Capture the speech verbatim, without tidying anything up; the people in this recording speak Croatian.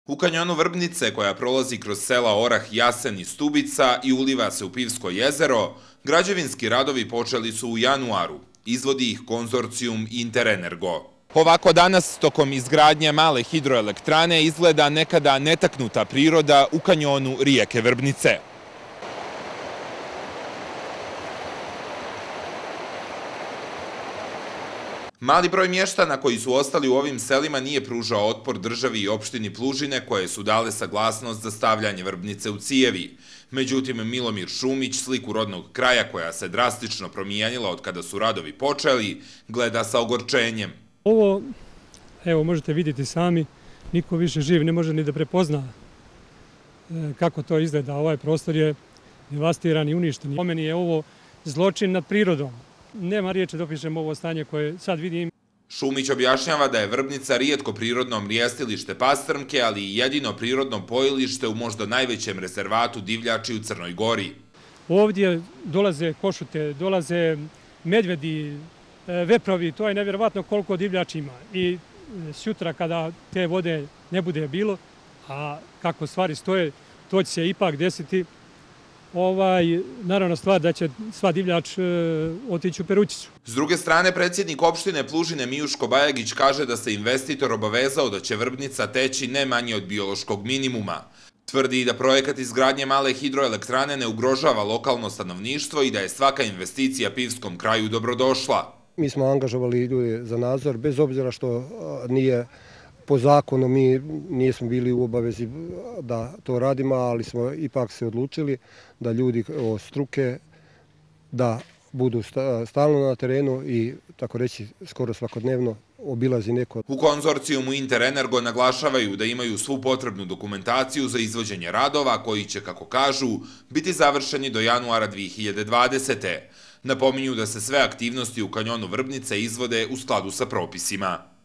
U kanjonu Vrbnice, koja prolazi kroz sela Orah, Jasen i Stubica i uliva se u Pivsko jezero, građevinski radovi počeli su u januaru. Izvodi ih konzorcijum Interenergo. Ovako danas, tokom izgradnje male hidroelektrane, izgleda nekada netaknuta priroda u kanjonu rijeke Vrbnice. Mali broj mještana koji su ostali u ovim selima nije pružao otpor državi i opštini Plužine, koje su dale saglasnost za stavljanje Vrbnice u cijevi. Međutim, Milomir Šumić, sliku rodnog kraja koja se drastično promijenila od kada su radovi počeli, gleda sa ogorčenjem. Ovo, evo možete vidjeti sami, niko više živ ne može ni da prepozna kako to izgleda. Ovaj prostor je devastiran i uništen. Po meni je ovo zločin nad prirodom. Nema riječi da opišem ovo stanje koje sad vidim. Šumić objašnjava da je Vrbnica rijetko prirodno mrijestilište pastrmke, ali i jedino prirodno pojilište u možda najvećem rezervatu divljači u Crnoj Gori. Ovdje dolaze košute, dolaze medvedi, veprovi, to je nevjerovatno koliko divljači ima. I sutra kada te vode ne bude bilo, a kako stvari stoje, to će se ipak desiti. Ovaj, naravno stvar da će sva divljač e, otići u Perućicu. S druge strane, predsjednik opštine Plužine Mijuško Bajagić kaže da se investitor obavezao da će Vrbnica teći ne manje od biološkog minimuma. Tvrdi da projekat izgradnje male hidroelektrane ne ugrožava lokalno stanovništvo i da je svaka investicija Pivskom kraju dobrodošla. Mi smo angažovali ljude za nadzor, bez obzira što nije po zakonu, mi nismo bili u obavezi da to radimo, ali smo ipak se odlučili da ljudi od struke da budu stalno na terenu i, tako reći, skoro svakodnevno obilazi neko. U konzorcijumu Interenergo naglašavaju da imaju svu potrebnu dokumentaciju za izvođenje radova koji će, kako kažu, biti završeni do januara dvije hiljade dvadesete. Napominju da se sve aktivnosti u kanjonu Vrbnice izvode u skladu sa propisima.